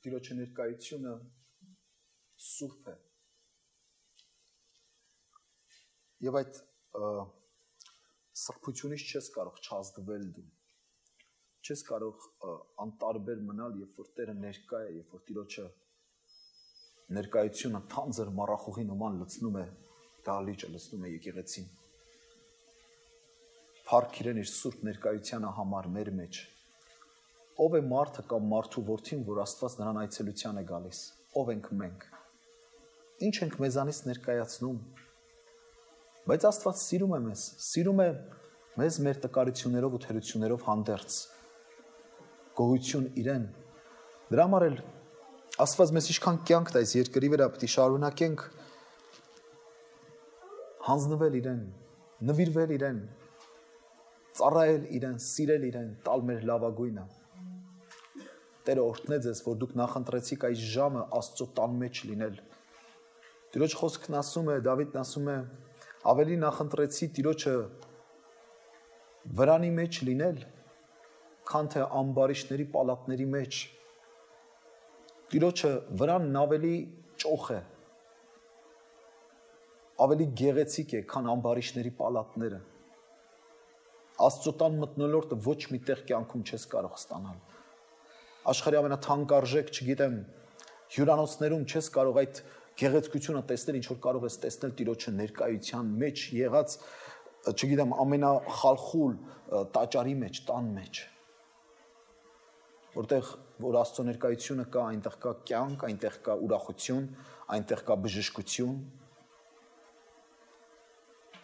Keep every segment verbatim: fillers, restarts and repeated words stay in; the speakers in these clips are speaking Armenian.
Տիրոջը ներկայությունը սուրբ է։ Եվ այդ սրբությունից չես կարող չազդվել դու։ Չես կարող անտարբեր մնալ, երբ որ Տերը ներկա է, երբ որ Տիրոջը ներկայությունը թանձր մառախուղի նման լցնում է դահլիճը, լցնում է եկեղեցին։ Փառք իրեն իր սուրբ ներկայությանը համար մեր մեջ։ Ով է մարդը կամ մարդու որդին, որ Աստված նրան այցելության է գալիս։ Ով ենք մենք։ Ինչ ենք մեզանից ներկայացնում։ Բայց Աստված սիրում է մեզ, սիրում է մեզ մեր տկարություններով ու թերություններով հանդերձ։ Գոհություն իրեն։ Դրա համար էլ Աստված մեզ ինչքան կյանք տա այս երկրի վրա, պետք է շարունակենք հանձնվել իրեն, նվիրվել իրեն, ծառայել իրեն, սիրել իրեն, տալ մեր լավագույնը։ Տերը օրհնե ձեզ, որ դուք նախընտրեցիք այս ժամը Աստծո տան մեջ լինել։ Տիրոջ խոսքն ասում է, Դավիթն ասում է, ավելի նախընտրեցի Տիրոջը վրանի մեջ լինել, քան թե ամբարիշտների պալատների մեջ։ Տիրոջը վրանն ավելի ճոխ է, ավելի գեղեցիկ է, քան ամբարիշտների պալատները։ Աստծո տան մթնոլորտը ոչ մի տեղ կյանքում չես կարող ստանալ։ Աշխարհի ամենաթանկարժեք, չգիտեմ, հյուրանոցներում չես կարող այդ գեղեցկությունը տեսնել, ինչ որ կարող ես տեսնել Տիրոջը ներկայության մեջ եղած, չգիտեմ, ամենախալխուլ տաճարի մեջ, տան մեջ։ Որտեղ որ Աստծո ներկայությունը կա, այնտեղ կա կյանք, այնտեղ կա ուրախություն, այնտեղ կա բժշկություն։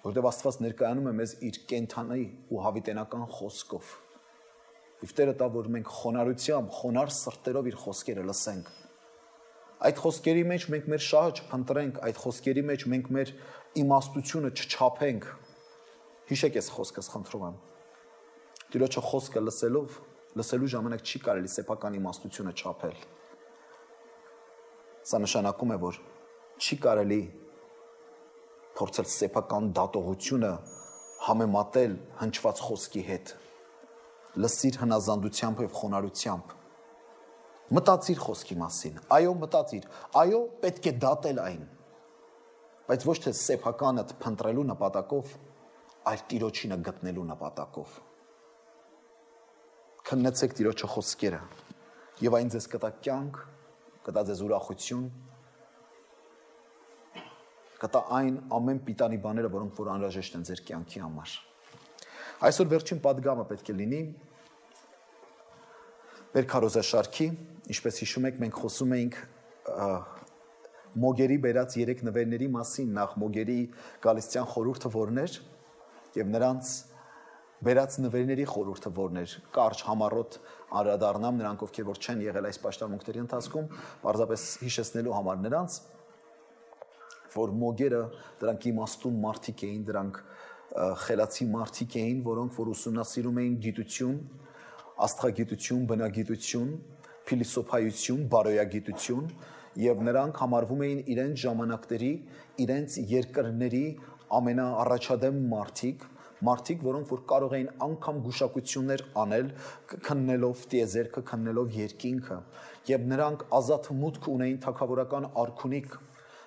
Որտեղ Աստված ներկայանում է մեզ իր կենթանի ու հավիտենական խոսքով։ Եվ Տերը տա, որ մենք խոնարհությամբ, խոնար սրտերով իր խոսքերը լսենք։ Այդ խոսքերի մեջ մենք մեր շահը չփնտրենք, այդ խոսքերի մեջ մենք մեր իմաստությունը չչափենք։ Հիշեք այս խոսքս, խնդրում եմ։ Տիրոջը խոսքը լսելով, լսելու ժամանակ չի կարելի սեփական իմաստությունը չափել։ Սա նշանակում է, որ չի կարելի փորձել սեփական դատողությունը համեմատել հնչված խոսքի հետ։ Լսիր հնազանդությամբ եւ խոնարհությամբ։ Մտածիր խոսքի մասին։ Այո, մտածիր։ Այո, պետք է դատել այն։ Բայց ոչ թե սեփականդ փնտրելու նպատակով, այլ Տիրոջինը գտնելու նպատակով։ Քննեցեք Տիրոջը խոսքերը, եւ այն ձեզ կտա կյանք, կտա ձեզ ուրախություն, կտա այն ամեն պիտանի բաները, որոնք որ անհրաժեշտ են ձեր կյանքի համար։ Այսօր վերջին պատգամը պետք է լինի մեր քարոզաշարքի, ինչպես հիշում եք, մենք խոսում էինք Մոգերի բերած երեք նվերների մասին, նախ Մոգերի գալստյան խորհուրդը որն էր, եւ նրանց բերած նվերների խորհուրդը որն էր, կարճ համառոտ անդրադառնամ նրանք, ովքեր որ չեն եղել այս պաշտամունքների ընթացքում, պարզապես հիշեցնելու համար նրանց, որ Մոգերը դրանք իմաստուն մարդիկ էին, դրանք խելացի մարդիկ էին, որոնք որ ուսումնասիրում էին գիտություն, աստղագիտություն, բնագիտություն, փիլիսոփայություն, բարոյագիտություն, եւ նրանք համարվում էին իրենց ժամանակների, իրենց երկրների ամենաառաջադեմ մարդիկ, մարդիկ, որոնք որ կարող էին անգամ գուշակություններ անել, քննելով տիեզերքը, քննելով երկինքը, եւ նրանք ազատ մուտք ունեին թագավորական արքունիք,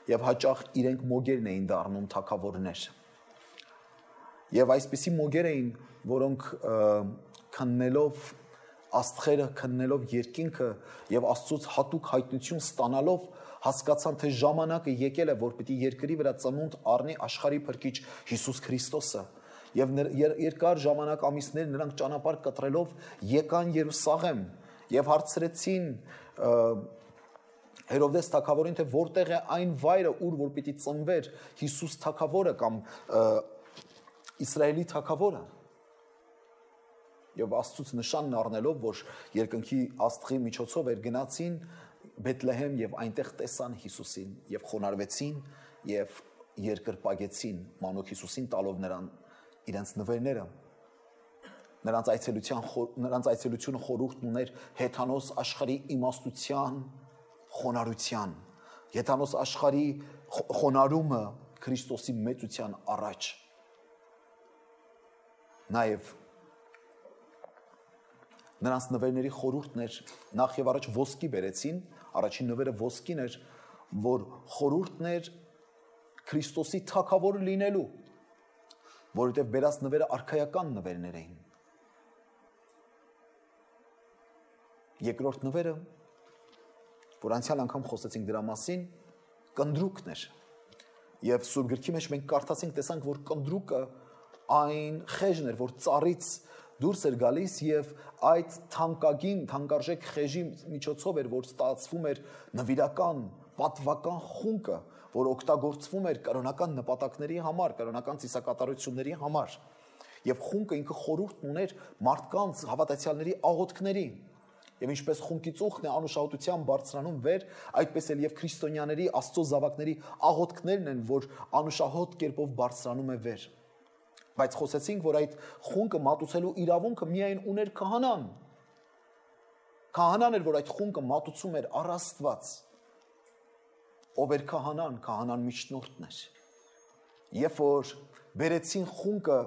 եւ հաճախ իրենք մոգերն էին դառնում թագավորներ։ Եվ այսպիսի մոգեր էին, որոնք քննելով աստղերը, քննելով երկինքը եւ Աստծոց հատուկ հայտնություն ստանալով հասկացան, թե ժամանակը եկել է, որ պիտի երկրի վրա ծնունդ առնի աշխարհի փրկիչ Հիսուս Քրիստոսը։ Եվ երկար ժամանակ ամիսներ նրանք ճանապարհ կտրելով եկան Երուսաղեմ եւ հարցրեցին Հերովդես թագավորին, թե որտեղ է այն վայրը, ուր որ պիտի ծնվեր Հիսուս թագավորը կամ Իսրայելի թագավորը։ Եվ Աստծուց նշանն առնելով, որ երկնքի աստղի միջոցով էր գնացին Բեթլեհեմ եւ այնտեղ տեսան Հիսուսին եւ խոնարհվեցին եւ երկրպագեցին մանուկ Հիսուսին տալով նրան իրենց նվերները։ Նրանց այցելության նրանց այցելությունը խորհուրդն ուներ հեթանոս աշխարհի իմաստության, խոնարհության, հեթանոս աշխարհի խոնարհումը Քրիստոսի մեծության առաջ։ Նաեւ Նրանց նվերների խորհուրդն էր, նախ եւ առաջ ոսկի բերեցին, առաջին նվերը ոսկին էր, որ խորհուրդն էր Քրիստոսի թագավոր լինելու, որովհետև բերած նվերը արքայական նվերներ էին։ Երկրորդ նվերը, որ անցյալ անգամ խոսեցինք դրա մասին, կնդրուկն էր։ Եվ Սուրբ գրքի մեջ մենք կարդացինք, տեսանք, որ կնդրուկը այն խեժն էր, որ ծառից դուրս էր գալիս եւ այդ թանկագին, թանկարժեք խեժի միջոցով էր, որ ստացվում էր նվիրական, պատվական խունկը, որ օգտագործվում էր կրոնական նպատակների համար, կրոնական ծիսակատարությունների համար։ Եվ խունկը ինքը խորհուրդն ուներ մարդկանց հավատացյալների աղոթքների։ Եվ ինչպես խունկի ծուխն է անուշահոտության բարձրանում վեր, այդպես էլ եւ քրիստոնյաների Աստծո զավակների աղոթքներն են, որ անուշահոտ կերպով բարձրանում է վեր։ Բայց խոսեցինք, որ այդ խունկը մատուցելու իրավունքը միայն ուներ քահանան։ Քահանան էր, որ այդ խունկը մատուցում էր առ Աստված։ Ով էր քահանան, քահանան միջնորդն էր։ Երբ որ բերեցին խունկը,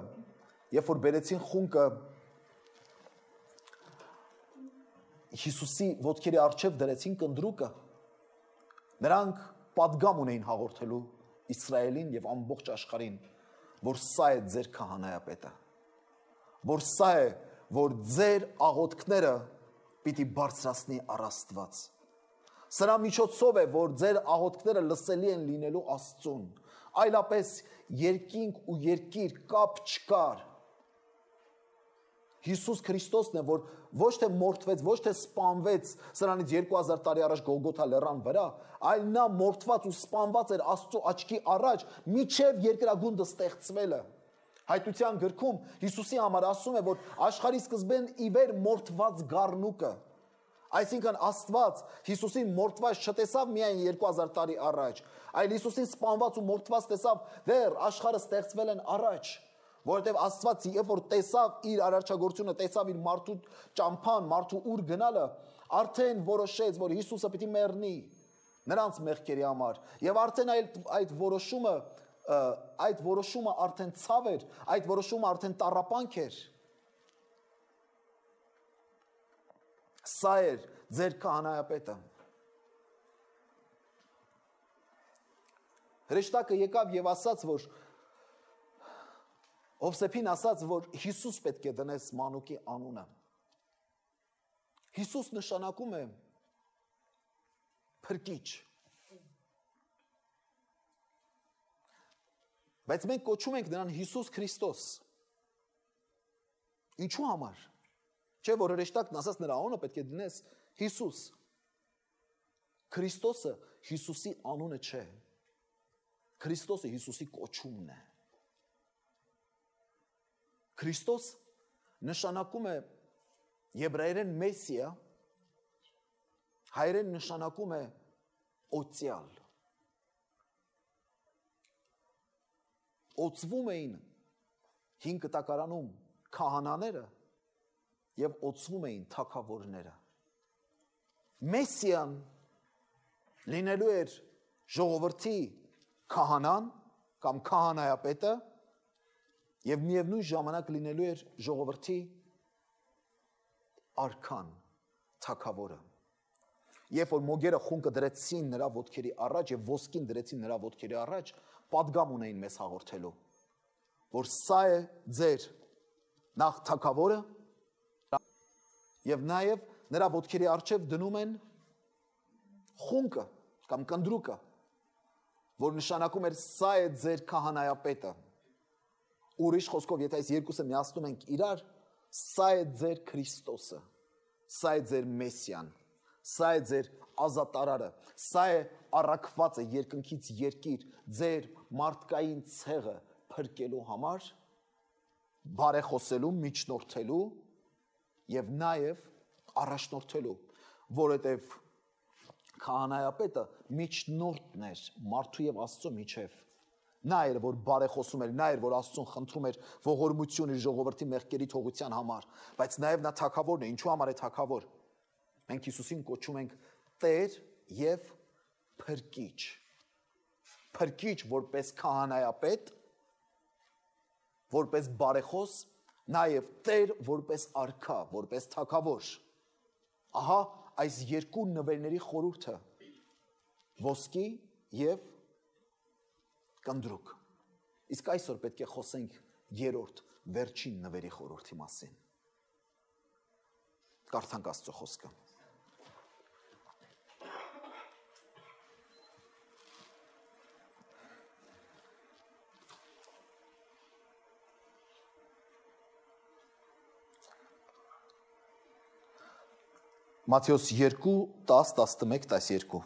երբ որ բերեցին խունկը Հիսուսի ոտքերի առջև դրեցին կնդրուկը, նրանք պատգամ ունեին հաղորդելու Իսրայելին եւ ամբողջ աշխարհին, որ սա է ձեր քահանայապետը, որ սա է, որ ձեր աղոթքները պիտի բարձրացնի առ Աստված։ Սրա միջոցով է, որ ձեր աղոթքները լսելի են լինելու Աստծուն, այլապես երկինք ու երկիր կապ չկար։ Հիսուս Քրիստոսն է, որ ոչ թե մորթվեց, ոչ թե սպանվեց սրանից երկու հազար տարի առաջ Գողգոթա լեռան վրա, այլ նա մորթված ու սպանված էր Աստծո աչքի առաջ, մինչև երկրագունդը ստեղծվելը։ Հայտության գրքում Հիսուսի համար ասում է, որ աշխարհի սկզբեն ի վեր մորթված գառնուկը, այսինքն Աստված Հիսուսին մորթված չտեսավ միայն երկու հազար տարի առաջ, այլ Հիսուսին սպանված ու մորթված տեսավ դեռ աշխարհը ստեղծվել են առաջ, որովհետև Աստված երբ որ տեսավ իր արարչագործությունը, տեսավ իր մարդու ճամփան, մարդու ուր գնալը, արդեն որոշեց, որ Հիսուսը պիտի մեռնի նրանց մեղքերի համար, եւ արդեն այդ այդ որոշումը այդ որոշումը արդեն ցավ էր, այդ որոշումը արդեն տառապանք էր։ Սա էր ձեր քահանայապետը։ Հրեշտակը եկավ եւ ասաց, որ Հովսեփին ասաց, որ Հիսուս պետք է դնես մանուկի անունը։ Հիսուս նշանակում է փրկիչ։ Բայց մենք կոչում ենք նրան Հիսուս Քրիստոս։ Ինչու համար։ Չէ՞ որ հրեշտակն ասաց նրա անունը պետք է դնես Հիսուս։ Քրիստոսը Հիսուսի անունը չէ։ Քրիստոսը Հիսուսի կոչումն է։ Քրիստոս նշանակում է եբրայերեն մեսիա, հայերեն նշանակում է օծյալ։ Օծվում էին հին կտակարանում քահանաները եւ օծվում էին թագավորները։ Մեսիան լինելու էր ժողովրդի քահանան կամ քահանայապետը եւ միևնույն ժամանակ լինելու էր ժողովրդի արքան, թագավորը։ Երբ որ մոգերը խունկը դրեցին նրա ոտքերի առաջ եւ ոսկին դրեցին նրա ոտքերի առաջ, պատգամ ունեին մեզ հաղորդելու, որ սա է ձեր նախ թագավորը եւ նաեւ նրա ոտքերի առջև դնում են խունկը կամ կնդրուկը, որ նշանակում էր սա է ձեր քահանայապետը։ Ուրիշ խոսքով, եթե այս երկուսը միացնում ենք իրար, սա է ձեր Քրիստոսը, սա է ձեր Մեսիան, սա է ձեր ազատարարը, սա է առաքվածը երկնքից երկիր, ձեր մարդկային ցեղը փրկելու համար, բարեխոսելու, միջնորդելու եւ նաեւ առաջնորդելու, որովհետեւ քահանայապետը միջնորդն էր մարդու եւ Աստծո միջև։ Նա էր, որ բարեխոսում էր, նա էր, որ Աստծուն խնդրում էր ողորմություն իր ժողովրդի մեղքերի թողության համար, բայց նաև նա թագավորն է, ինչու համար է թագավոր։ Մենք Հիսուսին կոչում ենք Տեր եւ Փրկիչ։ Փրկիչ որպես քահանայապետ, որպես բարեխոս նաև Տեր որպես արքա, որպես թագավոր։ Ահա այս երկու նվերների խորհուրդը ոսկի եւ կնդրուկ։ Իսկ այսօր պետք է խոսենք երրորդ վերջին նվերի խորհրդի մասին։ Կարդանք Աստծո խոսքը։ Մատթեոս երկու տաս տասնմեկ տասներկու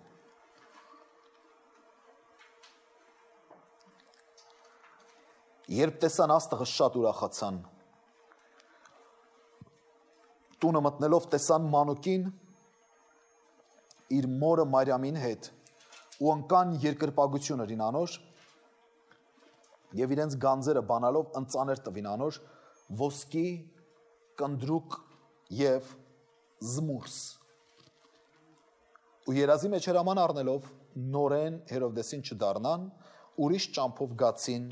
Երբ տեսան աստղը շատ ուրախացան։ Տունը մտնելով տեսան մանուկին իր մորը Մարիամին հետ ու ընկան երկրպագություն իրին անոր եւ իրենց գանձերը բանալով ընծաներ տվին անոր ոսկի, կնդրուկ եւ զմուրս։ Ու երազի մեջ հրաման առնելով նորեն Հերովդեսին չդառնան, ուրիշ ճամփով գացին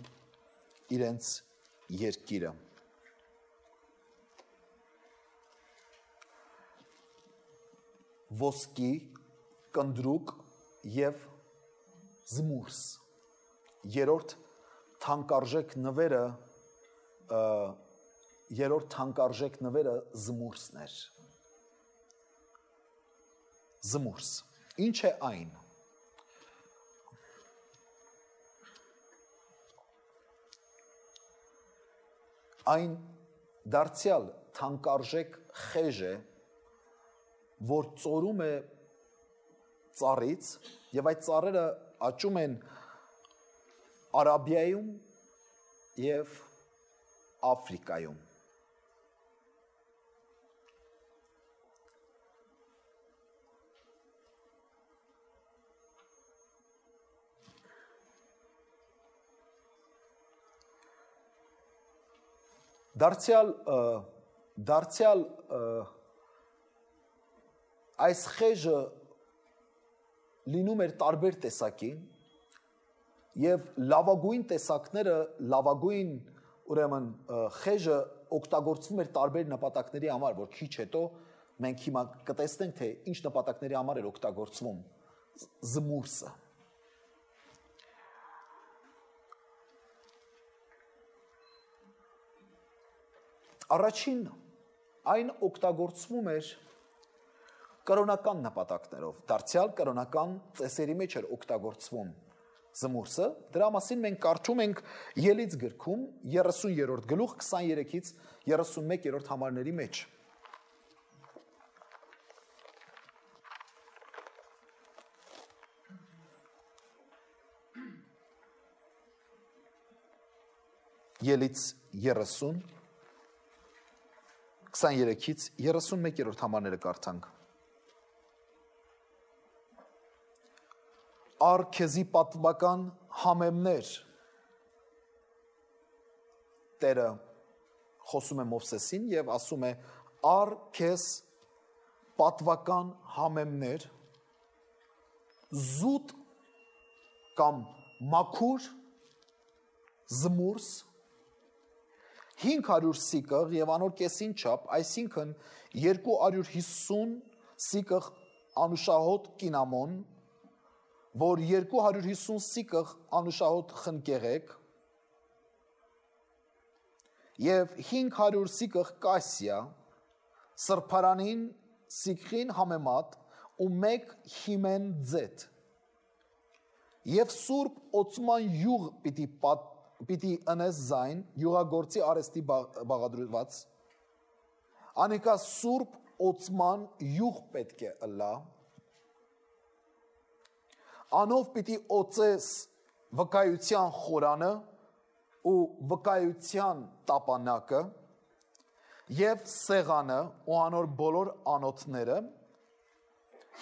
իրենց երկիրը։ Ոսկի, կնդրուկ եւ զմուրս։ Երրորդ թանկարժեք նվերը երրորդ թանկարժեք նվերը զմուրսն էր։ Զմուրս։ Ինչ է այն։ Այն դարձյալ թանկարժեք խեժ է, որ ծորում է ծառից եւ այդ ծառերը աճում են Արաբիայում եւ Աֆրիկայում։ Դարձյալ դարձյալ այս խեժը լինում էր տարբեր տեսակի եւ լավագույն տեսակները լավագույն ուրեմն խեժը օգտագործվում էր տարբեր նպատակների համար, որ քիչ հետո մենք հիմա կտեսնենք թե ինչ նպատակների համար էր օգտագործվում զմուրսը։ Առաջին այն օգտագործվում էր կրոնական նպատակներով, դարձյալ կրոնական ծեսերի մեջ էր օգտագործվում զմուրսը, դրա մասին մենք կարդում ենք Ելից գրքում երեսուներորդ գլուխ քսաներեքից երեսունմեկերորդ համարների մեջ։ Ելից երեսուն քսաներեքից երեսունմեկերորդ համարները կարդանք։ Առ քեզի պատվական համեմներ Տերը խոսում է Մովսեսին եւ ասում է առ քեզ պատվական համեմներ զուտ կամ մաքուր զմուրս հինգ հարյուր սիկղ եւ անոր կեսին չափ, այսինքն երկու հարյուր հիսուն սիկղ անուշահոտ կինամոն, որ երկու հարյուր հիսուն սիկղ անուշահոտ խնկեղեկ եւ հինգ հարյուր սիկղ կասիա, սրբարանին սիկղին համեմատ ու մեկ հիմեն ձետ եւ սուրբ օծման յուղ պիտի պատ Պիտի ընես զայն, յուղագործի արեստի բաղադրված, անիկա սուրբ օծման յուղ պետք է ըլլա, անով պիտի օծես վկայության խորանը ու վկայության տապանակը եւ սեղանը ու անոր բոլոր անոթները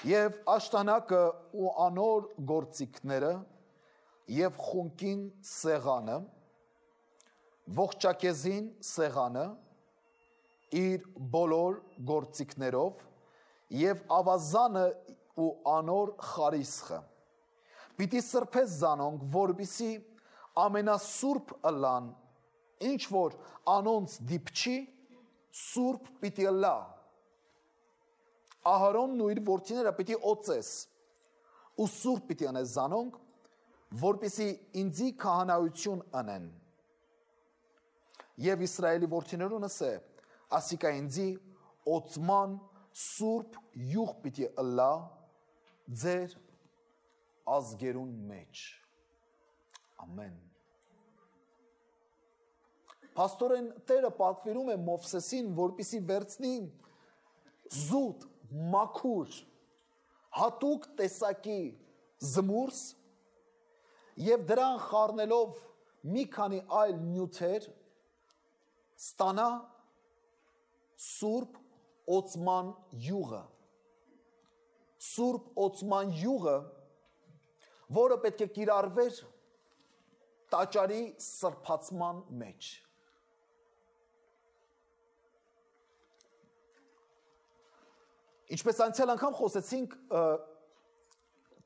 եւ աշտանակը ու անոր գործիքները եւ խունկին սեղանը, ողջակեզին սեղանը, իր բոլոր գործիքներով եւ ավազանը ու անոր խարիսխը։ Պիտի սրբես զանոնք, որպիսի ամենասուրբ ըլլան ինչ որ անոնց դիպչի սուրբ պիտի լա։ Ահարոնն ու իր որդիները պիտի օծես ու սուրբ պիտի անես զանոնք, որպեսզի ինձի քահանայություն անեն։ Եվ Իսրայելի որդիներուն ասե, ասիկա ինձի օծման սուրբ յուղ պիտի ըլլա ձեր ազգերուն մեջ։ Ամեն։ Պաստորեն Տերը պատվիրում է Մովսեսին, որպեսզի վերցնի զուտ, մաքուր, հատուկ տեսակի զմուրս և դրան խառնելով մի քանի այլ նյութեր ստանա սուրբ օծման յուղը։ Սուրբ օծման յուղը, որը պետք է կիրառվեր տաճարի սրբացման մեջ։ Ինչպես անցյալ անգամ խոսեցինք,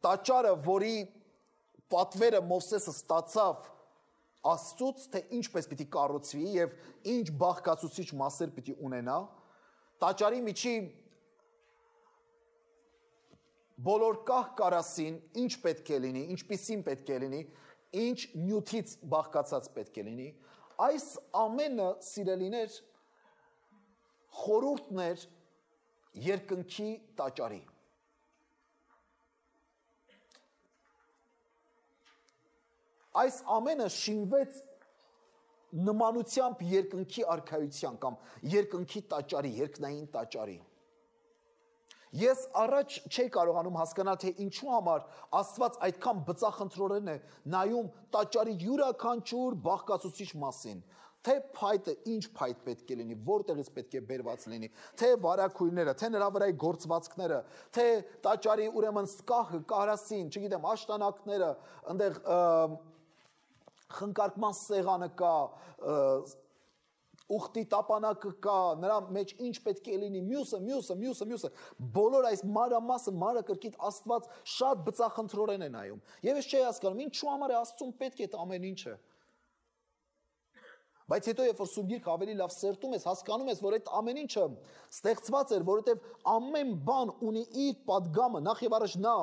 տաճարը, որի պատվերը Մովսեսը ստացավ Աստծուց, թե ինչպես պիտի կառուցվի և ինչ բաղկացուցիչ մասեր պիտի ունենա, տաճարի միջի բոլոր կահ կարասին ինչ պետք է լինի, ինչպիսին պետք է լինի, ինչ նյութից բաղկացած պետք է լինի, այս ամենը, սիրելիներ, խորհուրդն էր երկնքի տաճարի։ Այս ամենը շինվեց նմանությամբ երկնքի արքայության կամ երկնքի տաճարի, երկնային տաճարի։ Ես առաջ չէի կարողանում հասկանալ, թե ինչու համար Աստված այդքան բծախնդրորեն է նայում տաճարի յուրաքանչյուր բաղկացուցիչ մասին, թե փայտը ինչ փայտ պետք է լինի, որտեղից պետք է բերված լինի, թե վարակույրները, թե նրա վրայի գործվածքները, թե տաճարի ուրեմն սկահը, կարասին, չգիտեմ, աշտանակները, այնտեղ խնկարկման սեղանը կա, ուխտի տապանակը կա, նրա մեջ ինչ պետք է լինի, մյուսը, մյուսը, մյուսը, մյուսը, բոլոր այս մանրամասը, մանրակրկիտ Աստված շատ բծախնդրորեն է նայում։ Եվ ես չէի հասկանում, ինչու համար է Աստծուն պետք է այդ ամեն ինչը։ Բայց հետո երբ որ Սուրբ Գիրքը ավելի լավ սերտում ես, հասկանում ես, որ այդ ամեն ինչը ստեղծված էր, որովհետև ամեն բան ունի իր պատգամը, նախ եւ առաջ նա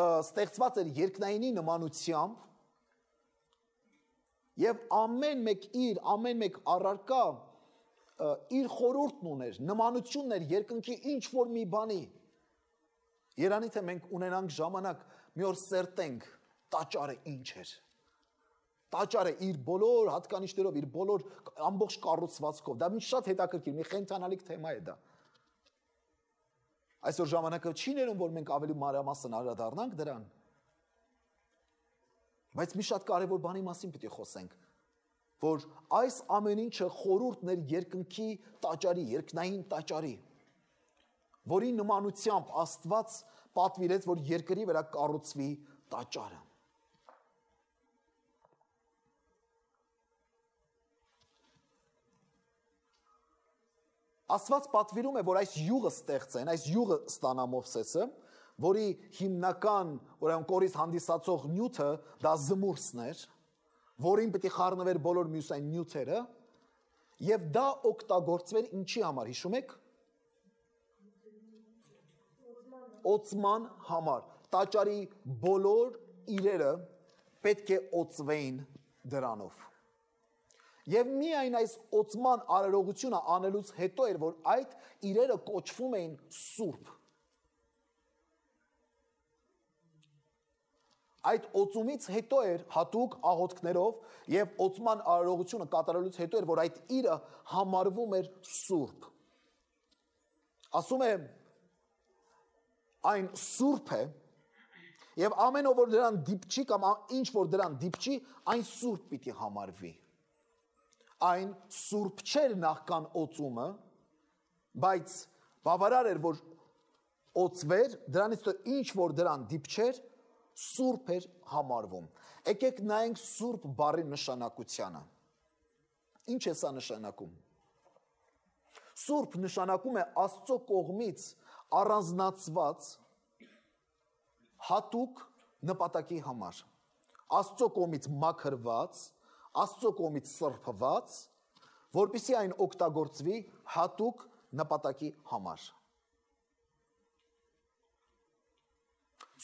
ստեղծված էր երկնայինի նմանությամբ, եւ ամեն մեկ իր, ամեն մեկ առարկա իր խորհուրդն ուներ, նմանությունն էր երկնքի ինչ որ մի բանի։ Երանի թե մենք ունենանք ժամանակ մի օր սերտենք տաճարը ինչ էր։ Տաճարը իր բոլոր հատկանիշներով, իր բոլոր ամբողջ կառուցվածքով, դա մի շատ հետաքրքիր, մի խենթանալիք թեմա է դա։ Այսօր ժամանակը չի ներում, որ մենք ավելի մանրամասն անդրադառնանք դրան։ Բայց մի շատ կարևոր բանի մասին պիտի խոսենք, որ այս ամեն ինչը խորհուրդն էր երկնքի տաճարի, երկնային տաճարի, որի նմանությամբ Աստված պատվիրեց, որ երկրի վրա կառուցվի տաճարը։ Աստված պատվիրում է, որ այս յուղը ստեղծեն, այս յուղը ստանա Մովսեսը, որի հիմնական, ուրեմն կորից հանդիսացող նյութը դա զմուրսն էր, որին պետք է խառնվեր բոլոր մյուս այն նյութերը, եւ դա օգտագործվեր ինչի համար, հիշում եք։ Օծման համար։ Տաճարի բոլոր իրերը պետք է օծվեին դրանով։ Եվ միայն այս օծման արարողությունը անելուց հետո էր, որ այդ իրերը կոչվում էին սուրբ։ Այդ օծումից հետո էր հատուկ աղոթքներով եւ օծման արարողությունը կատարելուց հետո էր, որ այդ իրը համարվում էր սուրբ։ Ասում է այն սուրբ է եւ ամեն ով որ դրան դիպչի կամ ինչ որ դրան դիպչի, այն սուրբ պիտի համարվի։ Այն սուրբ չէր նախքան օծումը, բայց բավարար էր, որ օծվեր, դրանից հետո ինչ որ դրան դիպչեր, սուրբ էր համարվում։ Եկեք նայենք սուրբ բառի նշանակությանը։ Ինչ է սա նշանակում։ Սուրբ նշանակում է Աստծո կողմից առանձնացված հատուկ նպատակի համար։ Աստծո կողմից մաքրված, Աստծո կողմից սրբված որպեսզի այն օգտագործվի հատուկ նպատակի համար։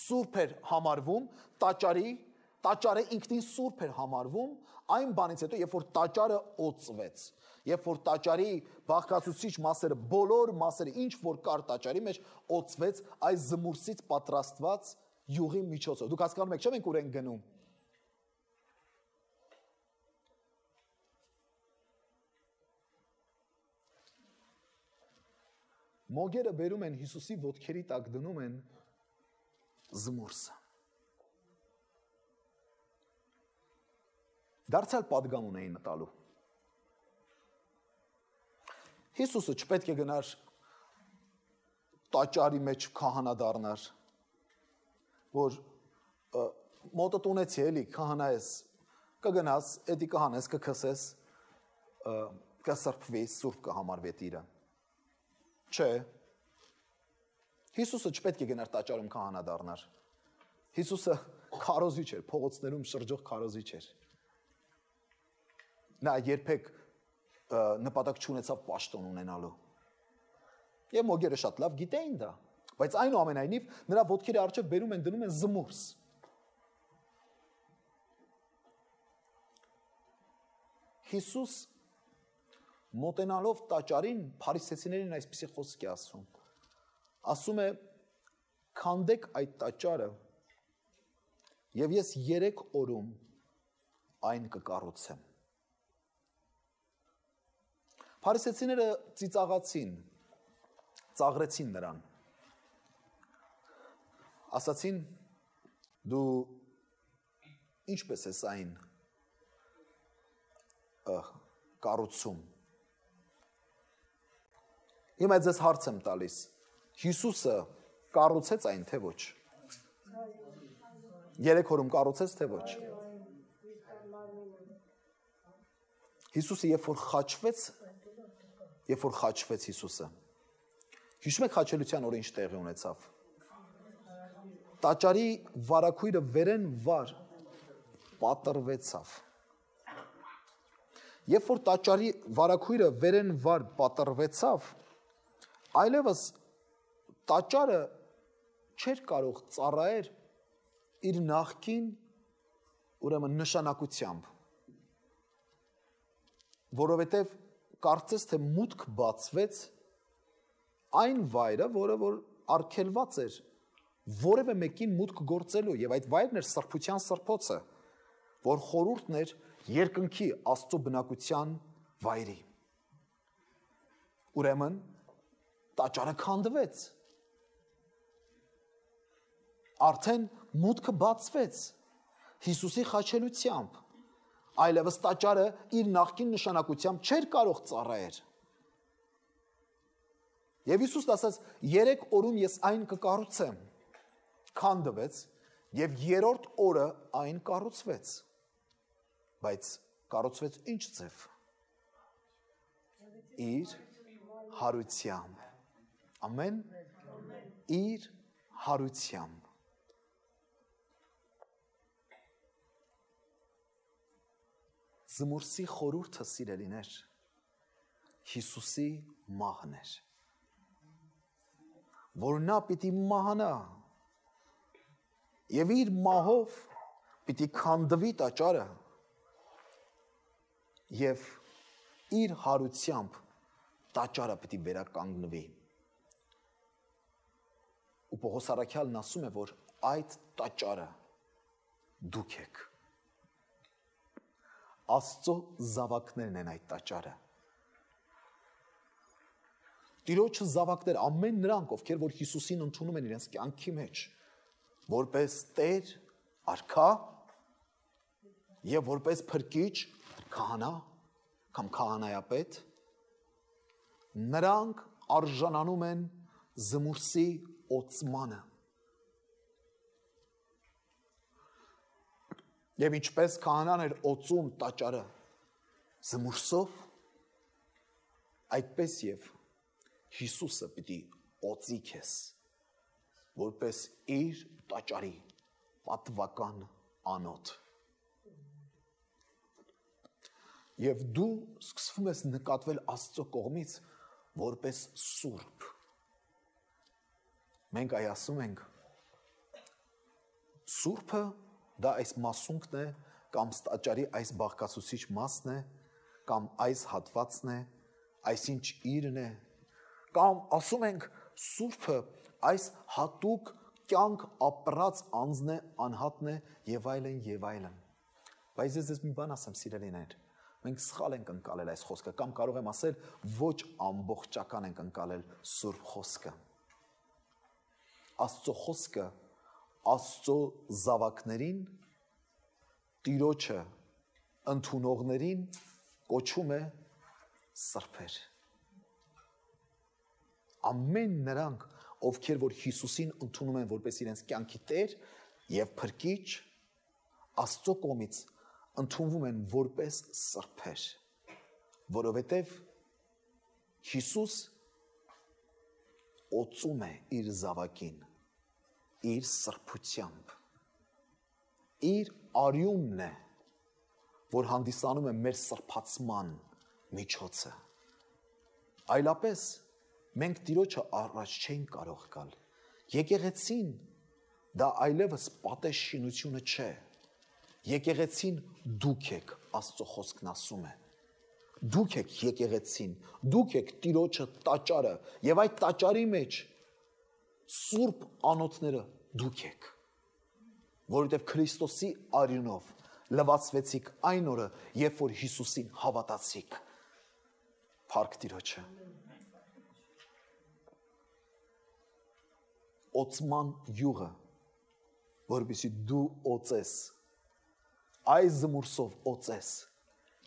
Սուրբ էր համարվում տաճարի, տաճարը ինքնին սուրբ էր համարվում այն բանից հետո, երբ որ տաճարը օծվեց, երբ որ տաճարի բաղկացուցիչ մասերը, բոլոր մասերը, ինչ որ կար տաճարի մեջ, օծվեց այս զմուրսից պատրաստված յուղի միջոցով։ Դուք հասկանում եք, չէ՞ մենք ուր ենք գնում։ Մոգերը բերում են Հիսուսի ոտքերի տակ դնում են զմուրսը։ Դարձյալ պատգամուն էին մտալու։ Հիսուսը չպետք է գնար տաճարի մեջ քահանա դառնար, որ մոտդ ունեցի էլի քահանա ես, կգնաս, էդի կհանես, կքսես, կսրբվի, սուրբ կհամարվի տիրը։ Չէ։ Հիսուսը չպետք է գնար տաճարում քահանա դառնար։ Հիսուսը քարոզիչ էր, փողոցներում շրջող քարոզիչ էր։ Նա երբեք նպատակ չունեցավ պաշտոն ունենալու։ Եվ մոգերը շատ լավ գիտեին դա, բայց այնուամենայնիվ նրա ոտքերի առջև բերում են դնում են զմուրս։ Հիսուս մոտենալով տաճարին փարիսեցիներին այսպիսի խոսք է ասում։ Ասում է. քանդեք այդ տաճարը եւ ես երեք օրում այն կկառուցեմ։ Փարիսեցիները ծիծաղացին, ծաղրեցին նրան։ Ասացին. դու ինչպես ես այն կառուցում։ Հիմա ձեզ հարց եմ տալիս. Հիսուսը կառուցեց այն, թե ոչ։ Երեք օրում կառուցեց, թե ոչ։ Հիսուսը երբ որ խաչվեց, երբ որ խաչվեց Հիսուսը, հիշում եք խաչելության օրը ինչ տեղի ունեցավ։ Տաճարի վարագույրը վերեն վար պատռվեցավ։ Երբ որ տաճարի վարագույրը վերեն վար պատռվեցավ, այլևս տաճարը չէր կարող ծառայել իր նախկին ուրեմն նշանակությամբ, որովհետև կարծես թե մուտք բացվեց այն վայրը, որը որ արգելված էր որևէ մեկին մուտք գործելու, եւ այդ վայրն էր սրբության սրբոցը, որ խորհուրդն էր երկնքի Աստծո բնակության վայրի։ Ուրեմն տաճարը քանդվեց։ Արդեն մուտքը բացվեց Հիսուսի խաչելությամբ, այլևս տաճարը իր նախկին նշանակությամբ չէր կարող ծառայել։ Եվ Հիսուսն ասաց. երեք օրում ես այն կկառուցեմ։ Քանդվեց եւ երրորդ օրը այն կառուցվեց։ Բայց կառուցվեց ինչ ձև։ Իր հարությամբ։ Ամեն։ Իր հարությամբ։ Զմուրսի խորհուրդը, սիրելիներ, Հիսուսի մահն էր, որ նա պիտի մահանա եւ իր մահով պիտի քանդվի տաճարը եւ իր հարությամբ տաճարը պիտի վերականգնվի։ Ու Պողոս առաքյալն ասում է, որ այդ տաճարը դուք եք։ Աստծո զավակներն են այդ տաճարը։ Տիրոջը զավակներ, ամեն նրանք, ովքեր որ Հիսուսին ընդունում են իրենց կյանքի մեջ, որպես Տեր, Արքա եւ որպես Փրկիչ, քահանա կամ քահանայապետ, նրանք արժանանում են զմուրսի օծմանը։ Եվ ինչպես քահանան էր օծում տաճարը զմուրսով, այդպես եւ Հիսուսը պիտի օծի քեզ, որպես իր տաճարի պատվական անոթ։ Եվ դու սկսվում ես նկատվել Աստծո կողմից որպես սուրբ։ Մենք այ ասում ենք սուրբը դա այս մասունքն է կամ ստաճարի այս բաղկացուցիչ մասն է կամ այս հատվածն է, այսինչ իրն է, կամ ասում ենք սուրբը այս հատուկ կյանք ապրած անձն է, անհատն է եւ այլն եւ այլն։ Բայց ես ձեզ մի բան ասեմ, սիրելիներ, մենք սխալ ենք ընկալել այս խոսքը, կամ կարող եմ ասել ոչ ամբողջական ենք ընկալել սուրբ խոսքը։ Աստծո խոսքը Աստծո զավակներին, Տիրոջը ընդունողներին կոչում է սրբեր։ Ամեն նրանք, ովքեր որ Հիսուսին ընդունում են որպես իրենց կյանքի Տեր եւ Փրկիչ, Աստծո կողմից ընդունվում են որպես սրբեր, որովհետև Հիսուս օծում է իր զավակին, իր սրբությամբ, իր արյունն է, որ հանդիսանում է մեր սրբացման միջոցը։ Այլապես մենք Տիրոջը առաջ չենք կարող գալ։ Եկեղեցին դա այլևս պատեշինությունը չէ։ Եկեղեցին դուք եք, Աստծո խոսքն ասում է։ Դուք եք եկեղեցին, դուք եք Տիրոջը տաճարը, եւ այդ տաճարի մեջ սուրբ անոթները դուք եք, որովհետև Քրիստոսի արյունով լվացվեցիք այն օրը, երբ որ Հիսուսին հավատացիք։ Փառք Տիրոջը։ Օծման յուղը, որպեսզի դու օծես, այս զմուրսով օծես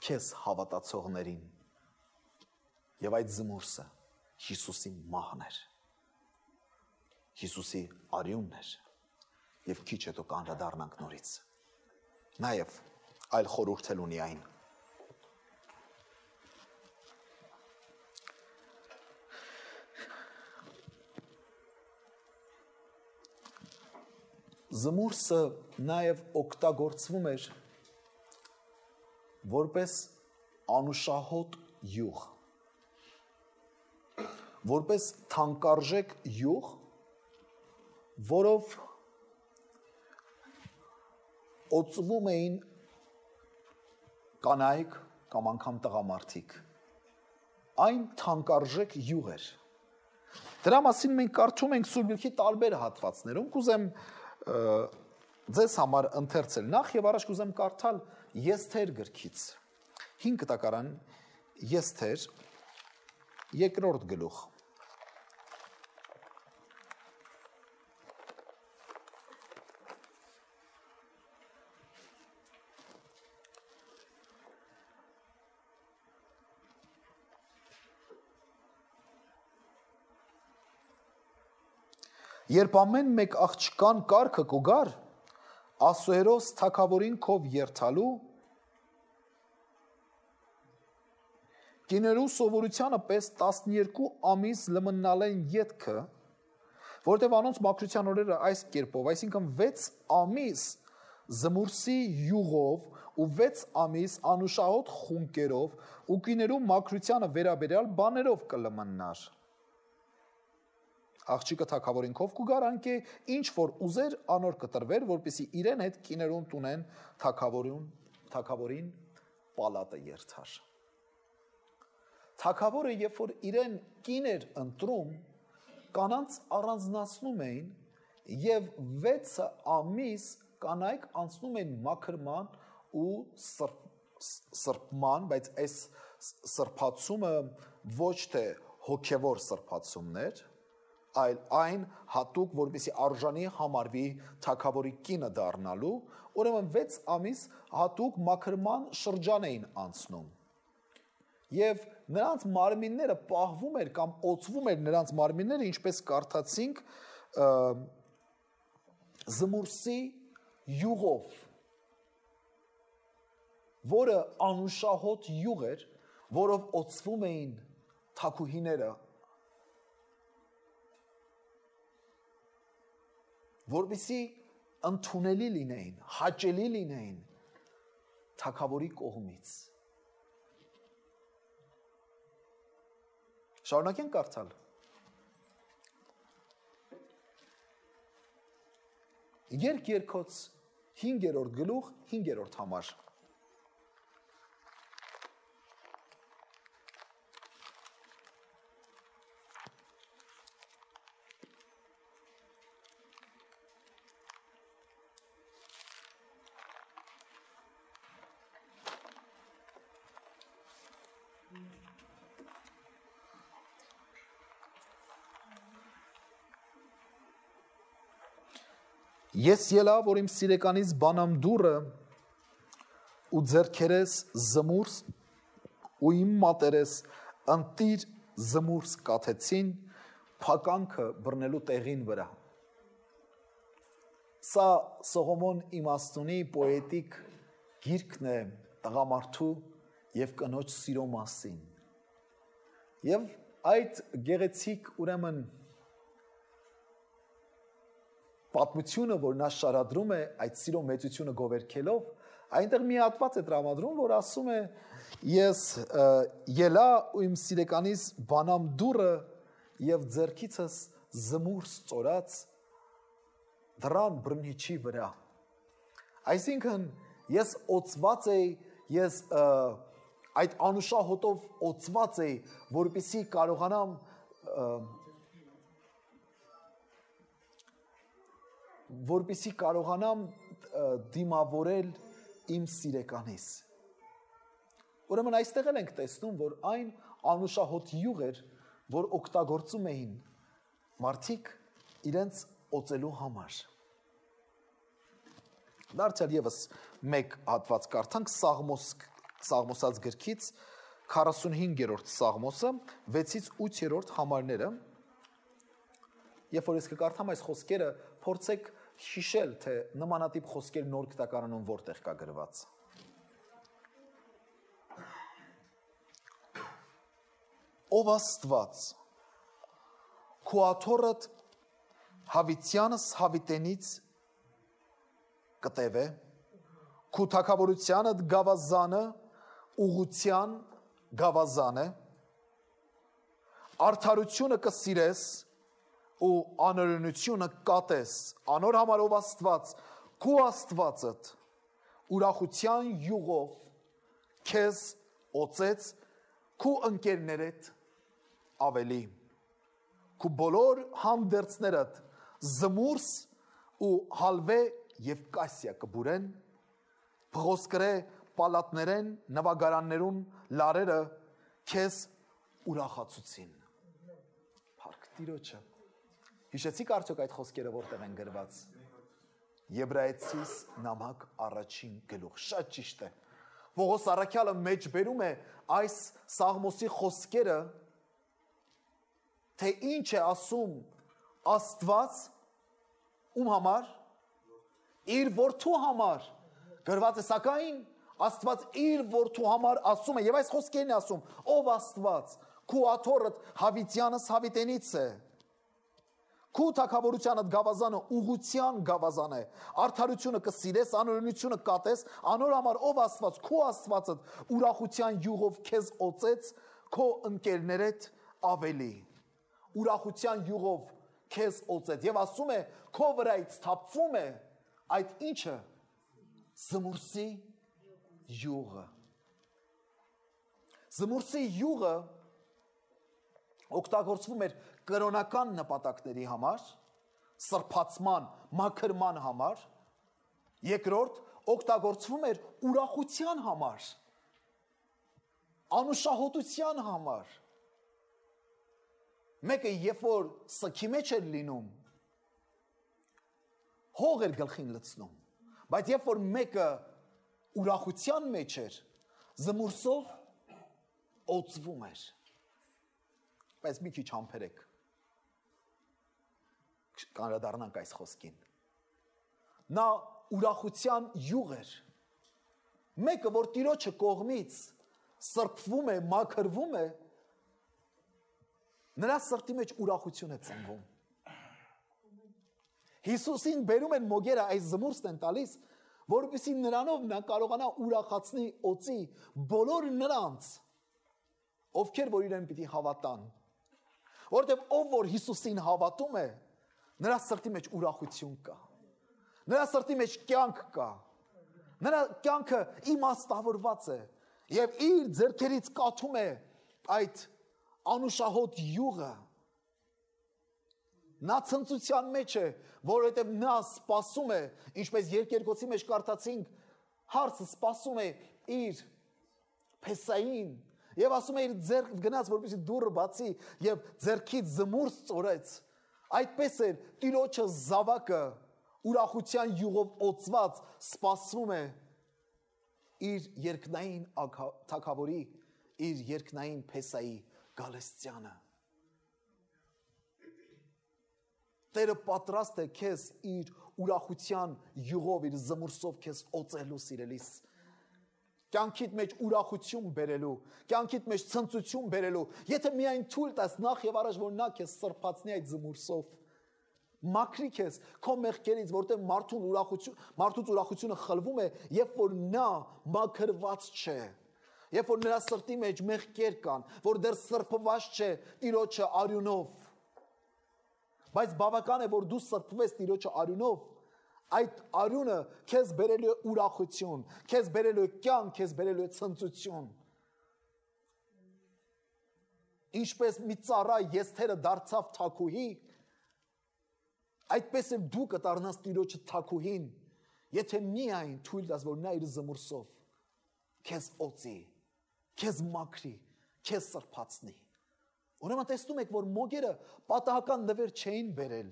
քեզ հավատացողներին, եւ այդ զմուրսը Հիսուսի մահն էր, Հիսուսի արյունն էր, եւ քիչ հետո կանդրադառնանք նորից։ Նաեւ այլ խորհուրդ էլ ունի այն։ Զմուրսը նաեւ օգտագործվում էր որպես անուշահոտ յուղ, որպես թանկարժեք յուղ, որով օծվում էին կանայք կամ անգամ տղամարդիկ։ Այն թանկարժեք յուղ էր։ Դրա մասին մենք կարդում ենք Սուրբ Գրքի տարբեր հատվածներում, կուզեմ ձեզ համար ընթերցել նախ եւ առաջ կուզեմ կարդալ Եսթեր գրքից։ հինգ կտակարան Եսթեր երկրորդ գլուխ։ Երբ ամեն մեկ աղջկան կարգը կուգար, Ասուերոս թագավորին քով երթալու, կիներու սովորությանը պես տասներկու ամիս լմնալեն ետքը, որտև անոնց մաքրության օրերը այս կերպով, այսինքն վեց ամիս զմուրսի յուղով ու վեց ամիս անուշահոտ խունկերով ու կիներու մաքրությանը վերաբերյալ բաներով կլմնար։ Աղջիկը թագավորին քով կուգար, անկե ինչ որ ուզեր անոր կտրվեր, որպեսի իրեն հետ կիներուն տունեն թագավորին, թագավորին պալատը երթար։ Թագավորը, երբ որ իրեն կին էր ընտրում, կանանց առանձնացնում էին եւ վեցը ամիս կանայք անցնում էին մաքրման ու սրբման, բայց այս սրբացումը ոչ թե հոգևոր սրբացումներ, այլ այն հատուկ, որպեսզի արժանի համարվի թագավորի կինը դառնալու, ուրեմն վեց ամիս հատուկ մաքրման շրջան էին անցնում։ Եվ նրանց մարմինները պահվում էր կամ օծվում էր նրանց մարմինները, ինչպես կարդացինք, զմուրսի յուղով, որը անուշահոտ յուղ էր, որով օծվում էին թագուհիները, որպեսզի ընդունելի լինեին, հաճելի լինեին թագավորի կողմից։ Շարունակենք կարդալ։ Երկ երկոց հինգերորդ գլուխ հինգերորդ համար։ Ես ելա, որ իմ սիրեկանից բանամ դուրը ու ձեռքերես զմուրս ու իմ մատերես ընտիր զմուրս կաթեցին փականքը բռնելու տեղին վրա։ Սա Սողոմոն իմաստունի պոետիկ գիրքն է տղամարդու և կնոջ սիրո մասին։ Եվ այդ գեղեցիկ ուրեմն պատմությունը, որ նա շարադրում է այդ սիրո մեծությունը գովերքելով, այնտեղ մի հատված է տրամադրում, որ ասում է ես ելա ու իմ սիրեկանից բանամ դուրը և ձեռքիցս զմուրս ծորած դրան բռնիչի վրա։ Այսինքն ես օծված էի, ես այդ անուշահոտով օծված էի, որպեսզի կարողանամ որպեսզի կարողանամ դիմավորել իմ սիրեկանից։ Ուրեմն այստեղ էլ ենք տեսնում, որ այն անուշահոտ յուղ էր, որ օգտագործում էին մարդիկ իրենց օծելու համար։ Դարձյալ ևս մեկ հատված կարդանք Սաղմոս, Սաղմոսած գրքից քառասունհինգերորդ Սաղմոսը վեցից ութերորդ համարները։ Երբ որ ես կկարդամ այս խոսքերը, փորձեք հիշել, թե նմանատիպ խոսքեր նոր գտակարանում որտեղ կա գրված։ Ով Աստված, քո աթոռդ հավիտյանս հավիտենից կտևե, քո թագավորությանդ գավազանը ուղղության գավազան է, արդարությունը կսիրես ու անօրենությունը կատես, անոր համար ով Աստված, քո Աստվածդ ուրախության յուղով քեզ օծեց, քո ընկերներդ ավելի, քո բոլոր հանդերձներդ զմուրս ու հալվե և կասյա կբուրեն, փղոսկրե պալատներեն նվագարաններուն լարերը քեզ ուրախացուցին։ Փառք Տիրոջը։ Հիշեցիք արդյոք այդ խոսքերը որտեղ են գրված։ Եբրայեցիս նամակ առաջին գլուխ, շատ ճիշտ է։ Պողոս առաքյալը մեջ բերում է այս Սաղմոսի խոսքերը, թե ինչ է ասում Աստված ում համար, իր որդու համար, գրված է սակայն Աստված իր որդու համար ասում է, և այս խոսքերն է ասում, ով Աստված, քո աթոռդ հավիտյանս հավիտենից է, քո թագավորությանդ գավազանը ուղղության գավազան է, արդարությունը կսիրես, անօրենությունը կատես, անոր համար ով Աստված, քո Աստվածդ ուրախության յուղով քեզ օծեց, քո ընկերներդ ավելի, ուրախության յուղով քեզ օծեց, և ասում է, քո վրայից թափվում է այդ ինչը, զմուրսի յուղը։ Զմուրսի յուղը օգտագործվում էր կրոնական նպատակների համար, սրբացման, մաքրման համար, երկրորդ օգտագործվում էր ուրախության համար, անուշահոտության համար։ Մեկը երբ որ սքի մեջ էր լինում, հող էր գլխին լցնում, բայց երբ որ մեկը ուրախության մեջ էր, զմուրսով օծվում էր։ Բայց մի քիչ համբերեք, կանրադառնանք այս խոսքին։ Նա ուրախության յուղ էր, մեկը, որ Տիրոջը կողմից սրբվում է, մաքրվում է, նրա սրտի մեջ ուրախություն է ծնվում։ Հիսուսին բերում են մոգերը այս զմուրսն են տալիս, որպեսզի նրանով նա կարողանա ուրախացնի, օծի բոլոր նրանց, ովքեր որ իրեն պիտի հավատան։ Որտեւ ով որ Հիսուսին հավատում է, նրա սրտի մեջ ուրախություն կա։ Նրա սրտի մեջ կյանք կա։ Նրա կյանքը իմաստավորված է եւ իր ձեռքերից կաթում է այդ անուշահոտ յուղը։ Նա ցնծության մեջ է, որովհետև նա սպասում է, ինչպես երկերկոցի մեջ կարդացինք, հարցը սպասում է իր Փեսային եւ ասում է իր ձեռք գնաց, որպեսզի դուռը բացի եւ ձեռքից զմուրս ծորեց։ Այդպես էր Տիրոջը զավակը ուրախության յուղով օծված սպասում է իր երկնային թագավորի, իր երկնային Փեսայի գալստյանը։ Տերը պատրաստ է քեզ իր ուրախության յուղով, իր զմուրսով քեզ օծելու սիրելիս։ Կյանքիդ մեջ ուրախություն բերելու, կյանքիդ մեջ ցնծություն բերելու, եթե միայն թույլ տաս նախ եւ առաջ որ նա քեզ սրբացնի այդ զմուրսով։ Մաքրի քեզ քո մեղքերից, որտեղ մարդուն ուրախություն, մարդուց ուրախությունը խլվում է, երբ որ նա մաքրված չէ, երբ որ նրա սրտի մեջ մեղքեր կան, որ դեռ սրբված չէ Տիրոջը արյունով։ Բայց բավական է, որ դու սրբվես Տիրոջը արյունով, այդ արյունը քեզ բերելու է ուրախություն, քեզ բերելու է կյանք, քեզ բերելու է ցնծություն։ Ինչպես մի ծառա եսթերը դարձավ թագուհի, այդպես էլ դու կդառնաս Տիրոջը թագուհին, եթե միայն թույլ տաս, որ նա իր զմուրսով քեզ օծի, քեզ մաքրի, քեզ սրբացնի։ Ուրեմն տեսնում եք, որ մոգերը պատահական նվեր չէին բերել,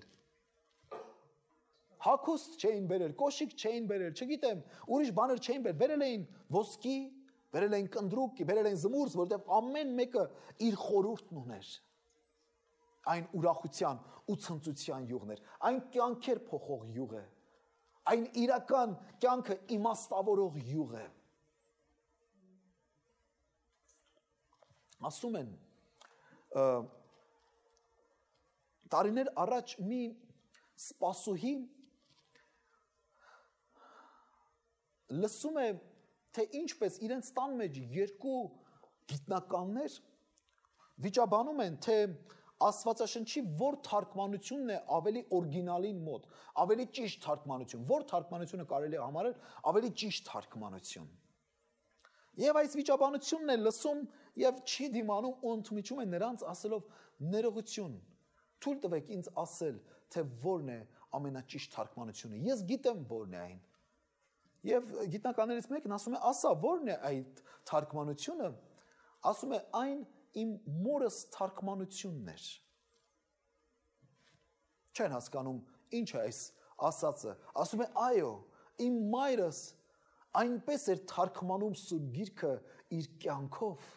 հագուստ չէին բերել, կոշիկ չէին բերել, չգիտեմ, ուրիշ բաներ չէին բերել, բերել էին ոսկի, բերել էին կնդրուկ, բերել էին զմուրս, որտեղ ամեն մեկը իր խորհուրդն ուներ։ Այն ուրախության ու ցնծության յուղն էր, այն կյանքեր փոխող յուղ է, այն իրական կյանքը իմաստավորող յուղ է։ Ասում են, տարիներ առաջ մի սպասուհի լսում է, թե ինչպես իրենց տան մեջ երկու գիտնականներ վիճաբանում են, թե Աստվածաշնչի որ թարգմանությունն է ավելի օրիգինալին մոտ, ավելի ճիշտ թարգմանություն, որ թարգմանությունը կարելի է համարել ավելի ճիշտ թարգմանություն։ Եվ այս վիճաբանությունն է լսում եւ չի դիմանում ու ընդմիջում է նրանց ասելով ներողություն, թույլ տվեք ինձ ասել, թե որն է ամենաճիշտ թարգմանությունը։ Ես գիտեմ որն է այն։ Եվ գիտնականներից մեկն ասում է, ասա, որն է այդ թարգմանությունը, ասում է, այն իմ մորս թարգմանությունն էր։ Չեն հասկանում, ինչ է այս ասածը, ասում է, այո, իմ մայրս այնպես էր թարգմանում Սուրբ Գիրքը իր կյանքով,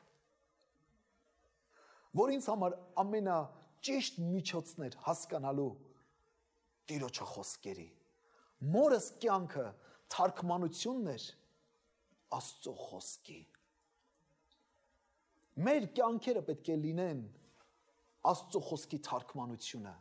որ ինձ համար ամենաճիշտ միջոցն էր հասկանալու Տիրոջը խոսքերի։ Մորս կյանքը թարգմանությունն էր Աստծո խոսքի։ Մեր կյանքերը պետք է լինեն Աստծո խոսքի թարգմանությունը։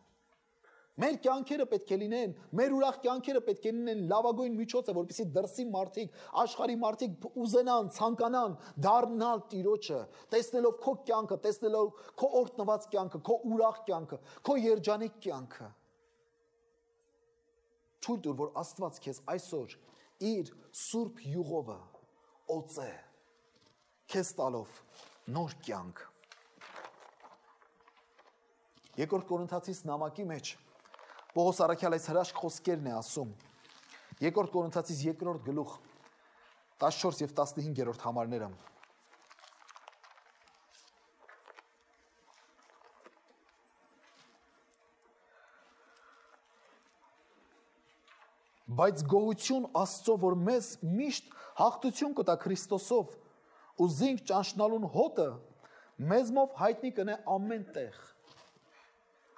Մեր կյանքերը պետք է լինեն, մեր ուրախ կյանքերը պետք է լինեն լավագույն միջոցը, որպեսզի դրսի մարդիկ, աշխարհի մարդիկ ուզենան, ցանկանան դառնալ Տիրոջը, տեսնելով քո կյանքը, տեսնելով քո օրհնված կյանքը, քո ուրախ կյանքը, քո երջանիկ կյանքը։ Թույլ տուր, որ Աստված քեզ այսօր իր սուրբ յուղովը օծե, քեզ տալով նոր կյանք։ Երկրորդ Կորինթացիս նամակի մեջ Պողոս առաքյալ այս հրաշք խոսքերն է ասում։ Երկրորդ Կորինթացիս երկրորդ գլուխ տասնչորս եւ տասնհինգերորդ համարները։ Բայց գոհություն Աստծո, որ մեզ միշտ հաղթություն կտա Քրիստոսով, ու զինք ճանչնալուն հոտը մեզմով հայտնի կնե ամեն տեղ։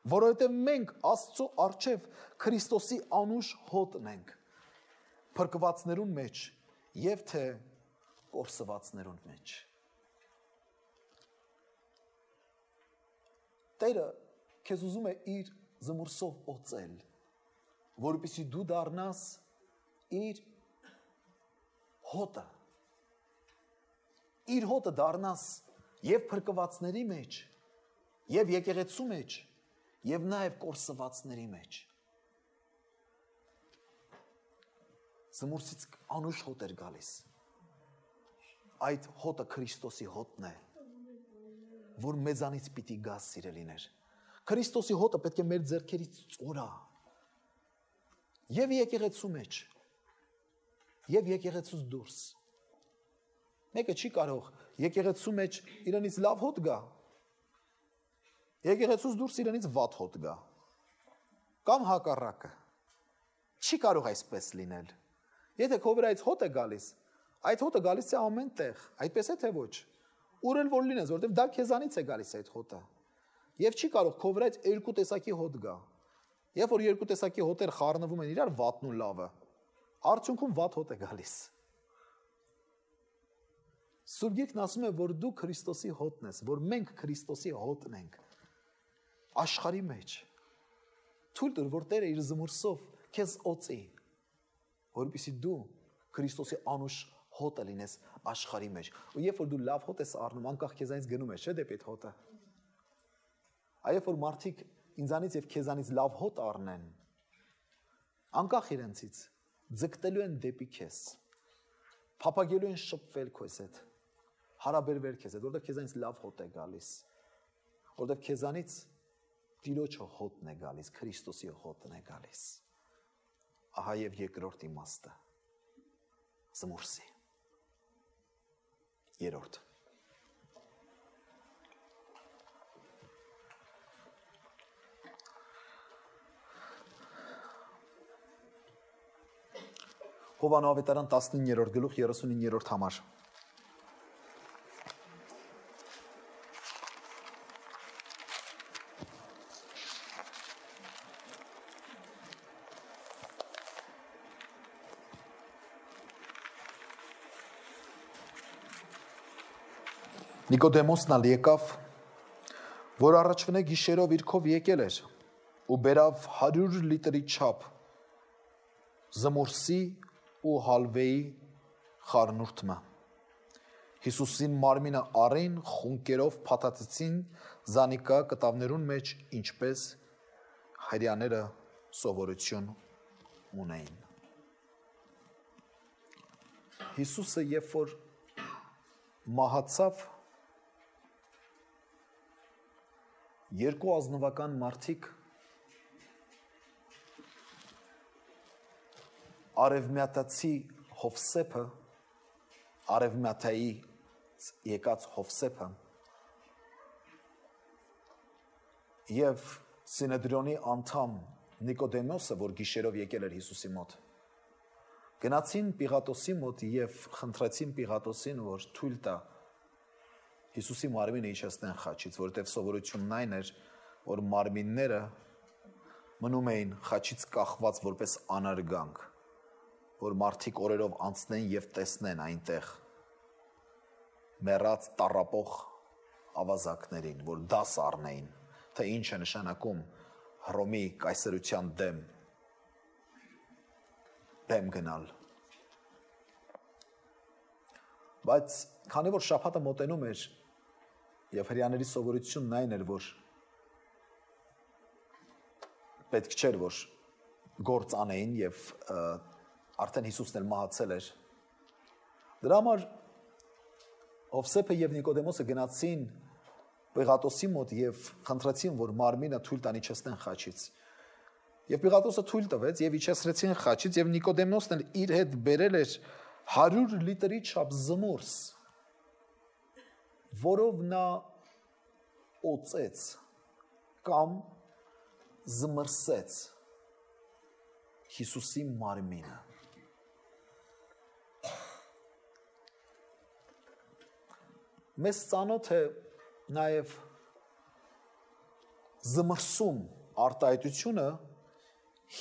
Որովհետև մենք Աստծո առջև Քրիստոսի անուշ հոտն ենք, փրկվածներուն մեջ եւ թե կորսվածներուն մեջ։ Տերը քեզ ուզում է իր զմուրսով օծել, որպեսզի դու դառնաս իր հոտը, իր հոտը դառնաս եւ փրկվածների մեջ եւ եկեղեցու մեջ, եւ նաեւ կորսվածների մեջ։ Զմուրսից անուշ հոտ էր գալիս։ Այդ հոտը Քրիստոսի հոտն է, որ մեզանից պիտի գա սիրելիներ։ Քրիստոսի հոտը պետք է մեր ձեռքերից ծորա։ Եվ եկեղեցու մեջ, եւ եկեղեցուց դուրս։ Մեկը չի կարող եկեղեցու մեջ իրենից լավ հոտ գա, եկեղեցուց դուրս իրենից վատ հոտ գա, կամ հակառակը։ Չի կարող այսպես լինել։ Եթե քո վրայից հոտ է գալիս, այդ հոտը գալիս է ամեն տեղ, այդպես է թե ոչ։ Ուր էլ որ լինես, որովհետև դա քեզանից է գալիս այդ հոտը։ Եվ չի կարող քո վրայից երկու տեսակի հոտ գա։ Երբ որ երկու տեսակի հոտեր խառնվում են իրար, վատն ու լավը, արդյունքում վատ հոտ է գալիս։ Սուրբ Գիրքն ասում է, որ դու Քրիստոսի հոտն ես, որ մենք Քրիստոսի հոտն ենք աշխարհի մեջ։ Թույլ տուր, որ Տերը իր զմուրսով քեզ օծի, որպեսզի դու Քրիստոսի անուշ հոտը լինես աշխարհի մեջ։ Ու երբ որ դու լավ հոտ ես առնում, անկախ քեզանից գնում ես, չէ՞ դեպի այդ հոտը։ Այո, որ մարդիկ ինձանից եւ քեզանից լավ հոտ առնեն, անկախ իրենցից, ձգտելու են դեպի քեզ, փափագելու են շփվել քեզ հետ, հարաբերվել քեզ հետ, որովհետև քեզանից լավ հոտ է գալիս, որովհետև քեզանից Տիրոջը հոտն է գալիս, Քրիստոսի հոտն է գալիս։ Ահա եւ երկրորդ իմաստը, զմուրսի։ Երրորդ։ Հովանու ավետարան տասնիններորդ գլուխ երեսունիններորդ համար։ Նիկոդեմոսն ալ եկավ, որ առաջվնե գիշերով իր քով եկել էր, ու բերավ հարյուր լիտրի չափ զմուրսի ու հալվեի խառնուրդը։ Հիսուսին մարմինը առին, խունկերով փաթաթեցին զանիկա կտավներուն մեջ, ինչպես հայրյաները սովորություն ունեին։ Հիսուսը երբ որ մահացավ, երկու ազնվական մարդիկ արևմյատացի Հովսեփը, արևմյատայի եկած Հովսեփը եւ Սինեդրիոնի անդամ Նիկոդեմոսը, որ գիշերով եկել էր Հիսուսի մոտ, գնացին Պիղատոսի մոտ եւ խնդրեցին Պիղատոսին, որ թույլ տա Հիսուսի մարմինը իջեցնեն խաչից, որովհետև սովորությունն այն էր, որ մարմինները մնում էին խաչից կախված որպես անարգանք, որ մարդիկ օրերով անցնեն եւ տեսնեն այնտեղ մեռած տառապող ավազակներին, որ դաս առնեին, թե ինչ է նշանակում Հռոմի կայսրության դեմ դեմ գնալ։ Բայց քանի որ շաբաթը մոտենում էր եւ հրյաների սովորությունն այն էր, որ պետք չէր, որ գործ անեին եւ արդեն Հիսուսն էլ մահացել էր։ Դրա համար Հովսեփը եւ Նիկոդեմոսը գնացին Պիղատոսի մոտ եւ խնդրեցին, որ մարմինը թույլ տան իջեցնեն խաչից։ Եվ Պիղատոսը թույլ տվեց եւ իջեցրեցին խաչից եւ Նիկոդեմոսն էլ իր հետ բերել էր հարյուր լիտրի չափ զմուրս, որով նա օծեց կամ զմրսեց Հիսուսի մարմինը։ Մեզ ծանոթ է նաև զմրսում արտահայտությունը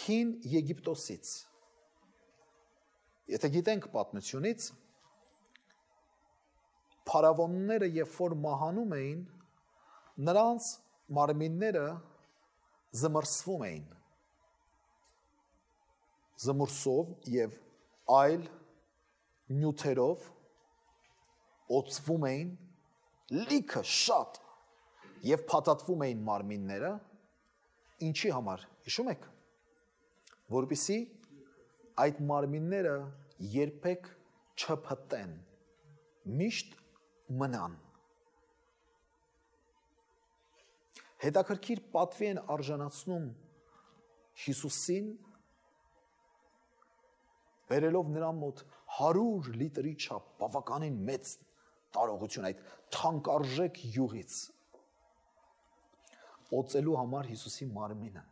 հին Եգիպտոսից։ Եթե գիտենք պատմությունից, փարավոնները երբ որ մահանում էին, նրանց մարմինները զմրսվում էին, զմուրսով եւ այլ նյութերով օծվում էին լիքը շատ եւ փաթաթվում էին մարմինները, ինչի համար, հիշում եք, որպեսզի այդ մարմինները երբեք չփտեն, միշտ մնան։ Հետաքրքիր պատվի են արժանացնում Հիսուսին, բերելով նրան մոտ հարյուր լիտրի չափ բավականին մեծ տարողություն այդ թանկարժեք յուղից օծելու համար Հիսուսի մարմինը։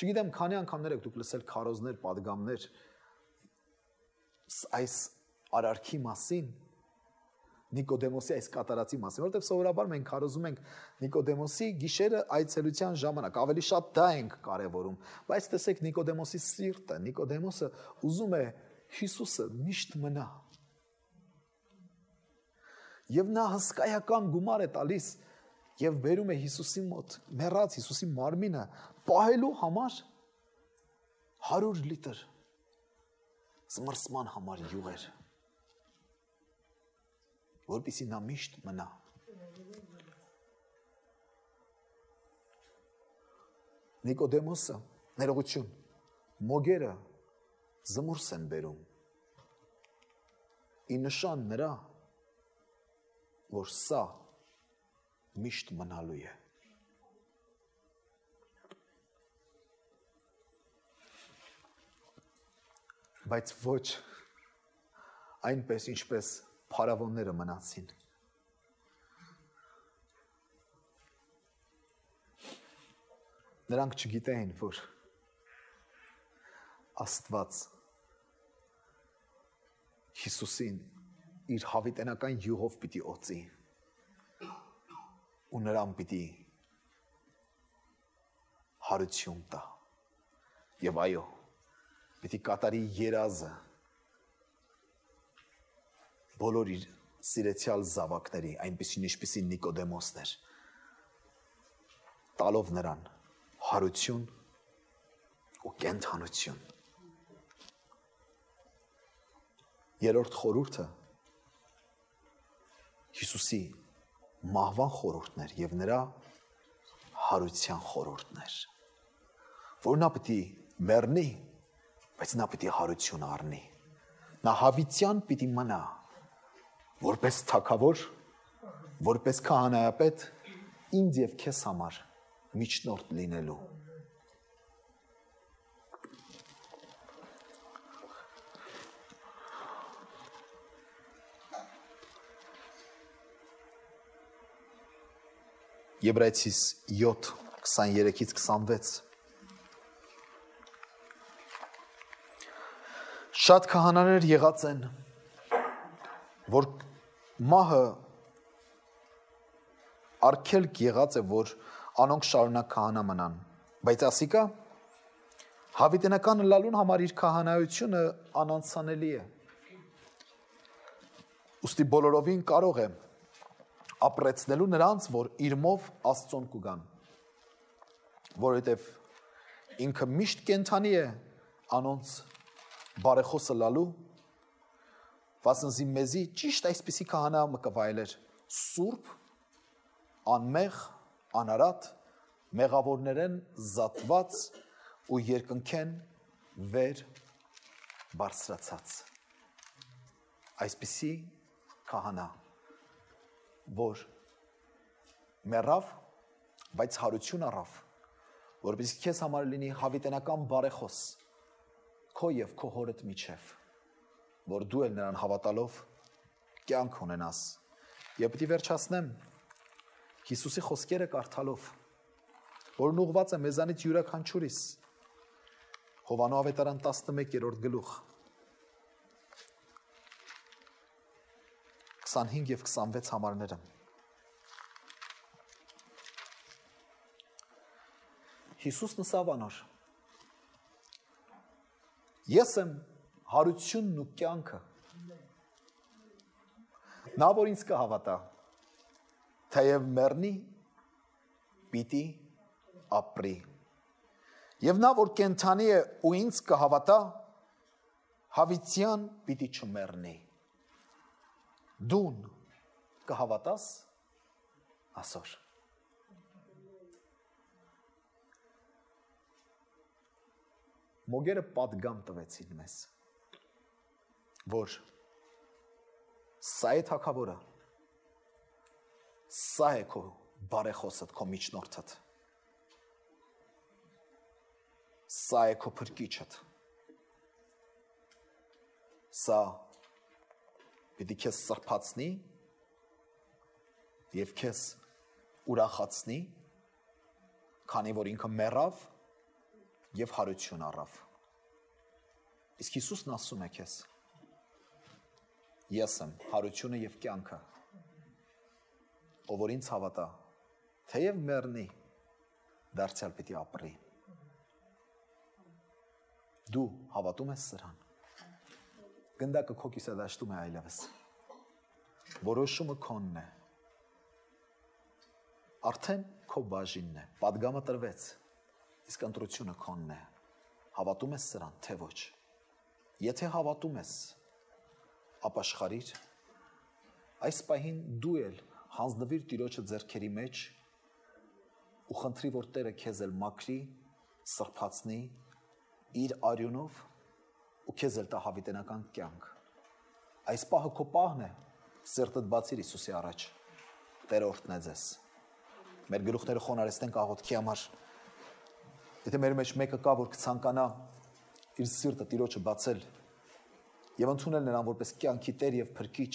Չգիտեմ, քանի անգամներ եք դուք լսել քարոզներ, պատգամներ այս արարքի մասին, Նիկոդեմոսի այս կատարածի մասին, որովհետև սովորաբար մենք քարոզում ենք Նիկոդեմոսի գիշերը այցելության ժամանակ, ավելի շատ դա ենք կարևորում, բայց տեսեք Նիկոդեմոսի սիրտը, Նիկոդեմոսը ուզում է Հիսուսը միշտ մնա։ Եվ նա հսկայական գումար է տալիս եւ բերում է Հիսուսի մոտ, մեռած Հիսուսի մարմինը պահելու համար հարյուր լիտր զմռսման համար յուղեր, որպեսզի նա միշտ մնա։ Նիկոդեմոսը, ներողություն, մոգերը զմուրս են բերում, ի նշան նրա, որ սա միշտ մնալու է։ Բայց ոչ այնպես, ինչպես փարավոնները մնացին։ Նրանք չգիտեին, որ Աստված Հիսուսին իր հավիտենական յուղով պիտի օծի ու նրան պիտի հարություն տա եւ այո, պիտի կատարի երազը բոլոր իր սիրեցյալ զավակների, այնպիսին ինչպիսին Նիկոդեմոսն էր, տալով նրան հարություն ու կենդանություն։ Երրորդ խորհուրդը Հիսուսի մահվան խորհուրդն էր եւ նրա հարության խորհուրդն էր, որ նա պիտի մեռնի, բայց նա պիտի հարություն առնի։ Նա հավիտյան պիտի մնա, որպես թագավոր, որպես քահանայապետ, ինձ եւ քեզ համար միջնորդ լինելու։ Եբրայեցիս յոթ քսաներեքից քսանվեց Շատ քահանաներ եղած են, որ մահը արգելք եղած է, որ անոնք շարունակ քահանա մնան, բայց ասիկա հավիտենական լալուն համար իր քահանայությունը անանցանելի է։ Ուստի բոլորովին կարող է ապրեցնելու նրանց, որ իրմով Աստծուն կուգան, որովհետև ինքը միշտ կենթանի է անոնց բարեխոսը լալու, վասնզի մեզի ճիշտ այսպիսի քահանա մը կվայելեր սուրբ, անմեղ, անարատ, մեղավորներեն զատված ու երկնքեն վեր բարձրացած։ Այսպիսի քահանա, որ մեռավ, բայց հարություն առավ, որպեսզի քեզ համար լինի հավիտենական բարեխոս քո եւ քո հորդ միջև, որ դու էլ նրան հավատալով կյանք ունենաս։ Եվ պիտի վերջացնեմ Հիսուսի խոսքերը կարդալով, որն ուղված է մեզանից յուրաքանչյուրիս, Հովանո ավետարան տասնմեկերորդ գլուխ քսանհինգ եւ քսանվեց համարները։ Հիսուսն ասավ անոր. Ես եմ հարությունն ու կյանքը։ Նա որ ինձ կհավատա, թեև մեռնի, պիտի ապրի։ Եվ նա որ կենդանի է ու ինձ կհավատա, հավիտյան պիտի չմեռնի։ Դուն կհավատաս ասոր։ մոգերը պատգամ տվեցին մեզ, որ սա է թագավորը, սա է քո բարեխոսդ, քո միջնորդդ, սա է քո փրկիչդ, սա պիտի քեզ սրբացնի և քեզ ուրախացնի, քանի որ ինքը մեռավ և հարություն առավ։ Իսկ Հիսուսն ասում է քեզ. ես եմ հարությունը և կյանքը, ով որ ինձ հավատա, թեև մեռնի, դարձյալ պիտի ապրի։ Դու հավատում ես սրան։ Գնդակը քո կիսադաշտում է այլևս։ Որոշումը քոնն է։ Արդեն քո բաժինն է, պատգամը տրվեց, իսկ ընտրությունը քոնն է։ Հավատում ես սրան, թե ոչ։ Եթե հավատում ես, ապաշխարիր, այս պահին դու էլ հանձնվիր Տիրոջը ձեռքերի մեջ ու խնդրի, որ Տերը քեզ էլ մաքրի, սրբացնի իր արյունով ու քեզ էլ տա հավիտենական կյանք։ Այս պահը քո պահն է, սրտդ բացիր Հիսուսի առաջ, Տերը օրհնե ձեզ։ Մեր գլուխները խոնարհեցնենք աղոթքի համար։ Եթե մեր մեջ մեկը կա, որ կցանկանա իր սիրտը Տիրոջը բացել եւ ընդունել նրան որպես կյանքի Տեր եւ Փրկիչ,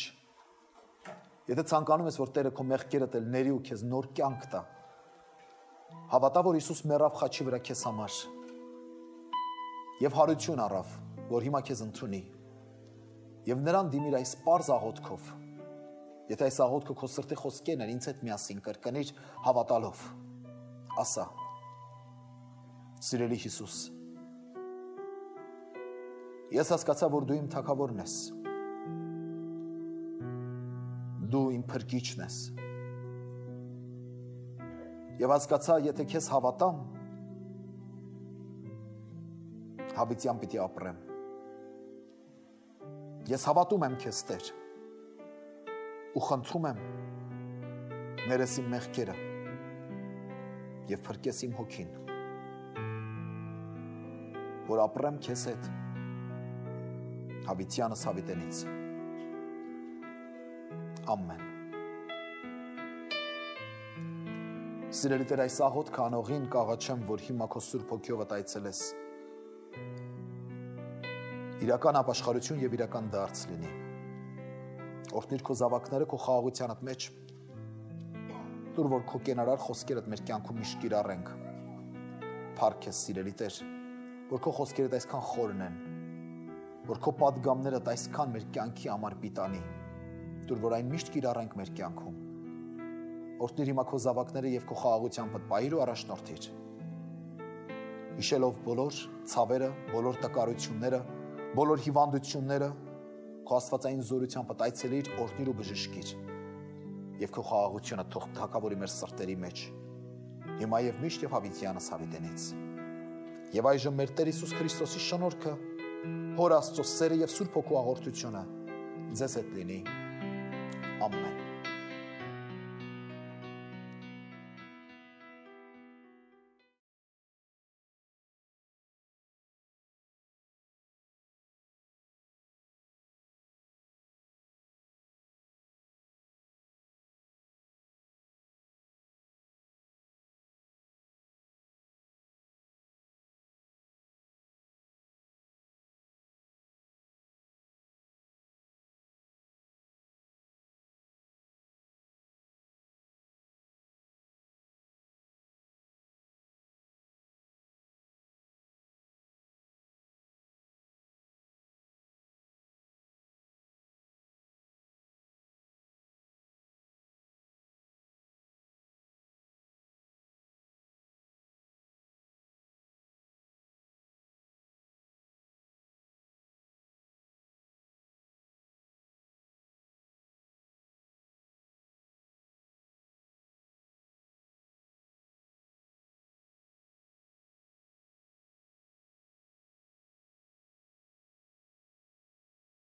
եթե ցանկանում ես, որ Տերը քո մեղքերդ էլ ների ու քեզ նոր կյանք տա, հավատա, որ Հիսուս մեռավ խաչի վրա քեզ համար եւ հարություն առավ, որ հիմա քեզ ընդունի, եւ նրան դիմիր այս պարզ աղոթքով։ Եթե այս աղոթքը քո սրտի խոսքերն են, ինձ հետ միասին կրկնիր հավատալով, ասա. Սիրելի Հիսուս, ես հասկացա, որ դու իմ թագավորն ես, դու իմ փրկիչն ես, եւ հասկացա, եթե քեզ հավատամ, հավիտյան պիտի ապրեմ։ Ես հավատում եմ քեզ, Տեր, ու խնդրում եմ ներես իմ մեղքերը և փրկես իմ հոգին, որ ապրեմ քեզ հետ հավիտյանս հավիտենից։ Ամեն։ Սիրելի Տեր, այս աղոթքը անողին կաղաչեմ, որ հիմա քո Սուրբ Հոգիովդ այցելես, իրական ապաշխարություն և իրական դարձ լինի։ Օրհնիր քո զավակները քո խաղաղությանդ մեջ, տուր, որ քո կենարար խոսքերդ մեր կյանքում միշտ կիրառենք։ Փառք ես, սիրելի Տեր, որ քո խոսքերդ այսքան խորն են, որ քո պատգամներդ այսքան մեր կյանքի համար պիտանի, տուր, որ այն միշտ կիրառենք մեր կյանքում։ Օրհնիր հիմա քո զավակները և քո խաղաղությամբ պահիր ու առաջնորդիր։ Հիշելով բոլոր ցավերը, բոլոր տկարությունները, բոլոր հիվանդությունները, քո աստվածային զորությամբ այցելիր, օրհնիր ու բժշկիր, և քո խաղաղությունը թող թագավորի մեր սրտերի մեջ, հիմա և միշտ և հավիտյանս հավիտենից։ Եվ այժմ մեր Տեր Հիսուս Քրիստոսի շնորհքը, Հոր Աստծո սերը և Սուրբ Հոգու աղոթությունը ձեզ հետ լինի։ Ամեն։